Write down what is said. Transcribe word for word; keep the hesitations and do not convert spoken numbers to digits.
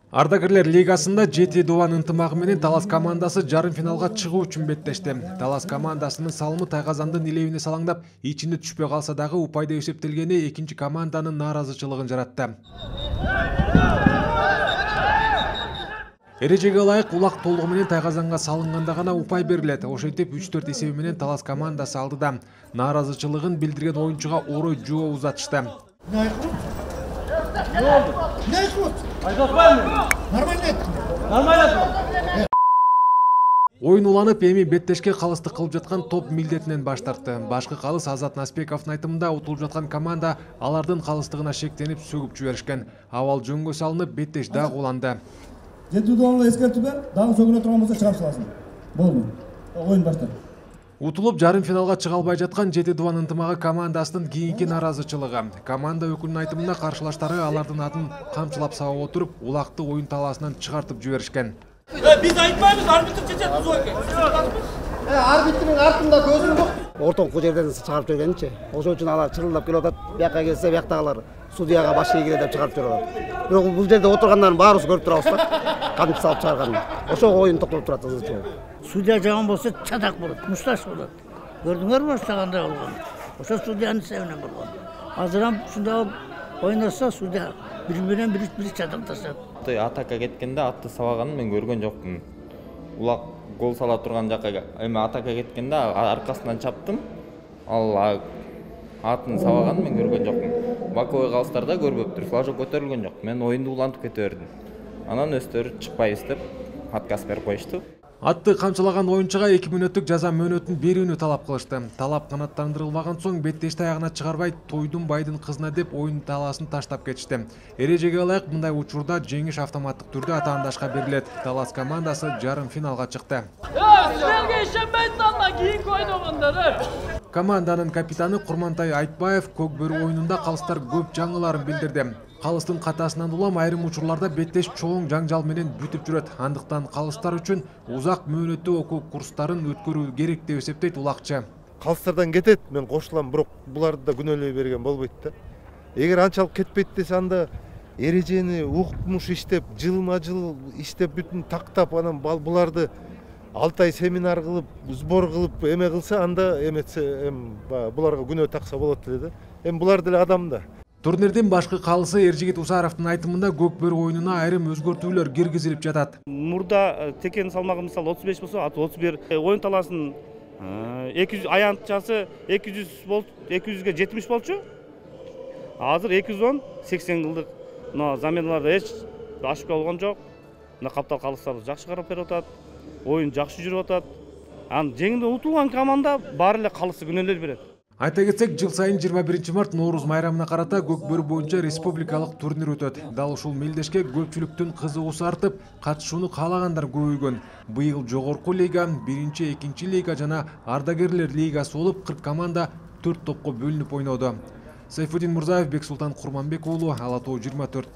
Ардагерлер лигасында жети дубан ынтымагы менен Талас командасы жарым финалга чыгуу үчүн беттешти. Талас командасынын салымы Тайгазандын илебине салаңдап, ичинде түшпөй калса дагы упайда эсептелгени экинчи команданын нааразычылыгын жаратты. Эрежеге ылайык улак толугу менен Тайгазанга салынганда гана упай берилет. Ошентип үч төрт эсеби менен Талас командасы алдыда. Нааразычылыгын билдирген оюнчуга орой жоо узатышты. Оюн уланып, эми беттешке калыстык кылып жаткан топ милдетинен баш тартты. Башкы калыс Азат Наспековдун айтымында утулуп жаткан команда алардын калыстыгына шектенип сөгүп жиберишкен. Абал жөнгө салынып, беттеш дагы уланды. жети дубанга эскертип, дагы сөгүнө турган болсо чыгарып саласың. Болду. Оюн баштап. Утулуп жарым финалга чыга албай жаткан жети дубан ынтымагы командасынын кийинки нааразычылыгы. Команда өкүлүнүн айтымында каршылаштары алардын атын камчылап сабап отуруп, улакты оюн талаасынан чыгартып жиберишкен. Биз айтпайбыз, арбитр чечет бузуу экен. Арбитрдин артында көзүм жок. Ортоңку жерден чыгарып жибергенчи. Ошол үчүн алар чырылдап келип атат. Бияка келсе, бияктагылар судьяга баш ийгире деп чыгарып жиберип атат. Бирок бул жерде отургандардын баарыбыз көрүп турабыз да. Камчы салып чыгарганын. Ошого оюн токтоп турат ызычуу. Судья жаман болсо чатак болот, мушташ болот. Көрдүңөрбү баштагандай болгон? Ошо судьянын себебинен болгон. Азыр ham ушундай ойносо судья бири менен бири бири чатакташат. Атака кеткенде атты сабаганын мен көргөн жокмун. Улак гол сала турган жакка эми атака кеткенде аркасынан чаптым. Ал атын сабаганын мен көргөн жокмун. Боковой калыстарда көрбөптүр, флажок көтөрүлгөн жок. Мен оюнду улантып кете бердим. Анан өздөрү чыкпайбыз деп отказ берип коюшту. Атты камчылаган оюнчуга эки мүнөттүк жаза мөөнөтүн берүүнү талап кылышты. Талап канаттандырылбаган соң беттешти аягына чыгарбай, тойдун байдын кызына деп оюн талаасын таштап кетишти. Эрежеге ылайык мындай учурда жеңиш автоматтык түрдө атаандашка берилет. Талас командасы жарым финалга чыкты. Силерге ишенбейт анда кийинки ойногондор. Команданын капитаны Курмантай Айтбаев көк бөрү оюнунда калыстар көп жаңыларын билдирди. Калыстын катасынан улам айрым учурларда беттеш чоң жаңжал менен бүтүп жүрөт. Андыктан калыстар үчүн узак мөөнөттүү окуу курстарын өткөрүү керек деп эсептейт улакчы. Калыстардан кетет, мен кошулам, бирок буларды да күнөөлөй берген болбойт да. Эгер анчалык кетпейт десе, анда эрежени укмуш иштеп, жылма-жыл иштеп, бүтүн тактап, анан буларды алты ай семинар кылып, сбор кылып, эме кылса, анда эметсе, эми буларга күнөө такса болот эле да. Эми булар деле адам да. Турнирдин башкы калысы Эржигит Усаровдун айтымында көк бөрү оюнуна айрым өзгөртүүлөр киргизилип жатат. Мурда текен салмагы мисалы отуз беш болсо, отуз бир. Оюн талаасынын эки жүз аянтчасы эки жүз болчу, эки жүзгө жетимиш болчу. Азыр эки жүз он сексен кылдык. Мына заменаларда эч ошибка болгон жок. Мына каптал калыстарды жакшы карап берип атат. Оюн жакшы жүрүп атат. Анан жеңилип утулган команда баары эле калысы күнөөлөр берет. Айта кетсек, жыл сайын жыйырма биринчи март Нооруз майрамына карата көк бөрү боюнча республикалык турнир өтөт. Дал ушул мелдешке көпчүлүктүн кызыгуусу артып, катышууну каалагандар көбөйгөн. Быйыл жогорку лига, биринчи, экинчи лига жана ардагерлер лигасы болуп, кырк команда төрт топко бөлүнүп ойноду. Сайфудин Мурзаев, Бексултан Курманбек уулу, Ала Тоо жыйырма төрт.